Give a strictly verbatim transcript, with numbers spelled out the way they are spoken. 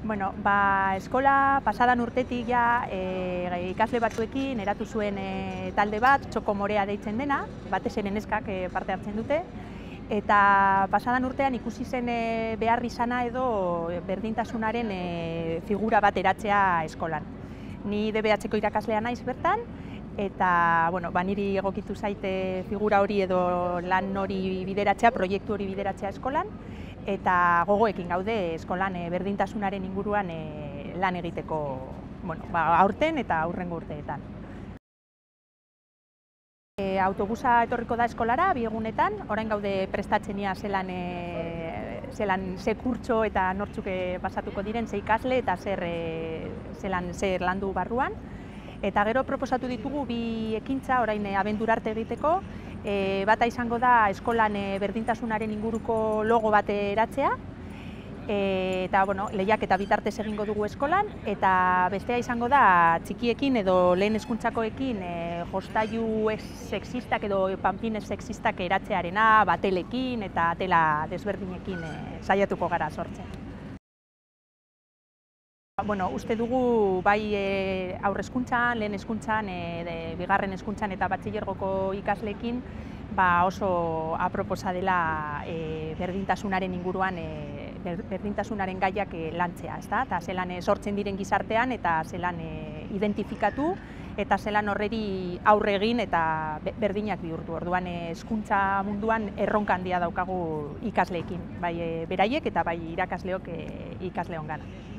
Bueno, ba, eskola pasadan urtetik ja e, ikasle batzuekin eratu zuen e, talde bat, txoko morea deitzen dena, batez ere neskak e, parte hartzen dute, eta pasadan urtean ikusi zen e, behar izana edo berdintasunaren e, figura bat eratzea eskolan. Ni D B H-ko irakaslea naiz bertan, eta bueno, ba, niri egokitu zaite figura hori edo lan hori bideratzea, proiektu hori bideratzea eskolan, eta gogoekin gaude eskolan e, berdintasunaren inguruan e, lan egiteko, bueno, ba, aurten eta aurrengo urteetan. E, autobusa etorriko da eskolara bi egunetan, orain gaude prestatzenia zelan e, zelan ze kurtso eta nortzuk e, pasatuko diren, ze ikasle eta zer e, zelan zer landu barruan. Eta gero proposatu ditugu bi ekintza orain e, abendura arte egiteko. E, bata izango da eskolan e, berdintasunaren inguruko logo bat eratzea, e, eta bueno, lehiak eta bitartez egingo dugu eskolan, eta bestea izango da txikiekin edo lehen hezkuntzakoekin e, jostailu ez sexistak edo panpin ez sexistak eratzearena, batelekin eta tela desberdinekin e, saiatuko gara sortzen. Bueno, uste dugu bai e, aurre hezkuntzan, lehen hezkuntzan, e, bigarren hezkuntzan eta batxilergoko ikasleekin ba oso aproposa dela e, berdintasunaren inguruan e, berdintasunaren gaiak e, lantzea, ezta? Eta zelan e, sortzen diren gizartean eta zelan e, identifikatu eta zelan horreri aurre egin eta berdinak bihurtu. Orduan hezkuntza munduan erronka handia daukagu ikasleekin, bai e, beraiek eta bai irakasleok e, ikasleongana.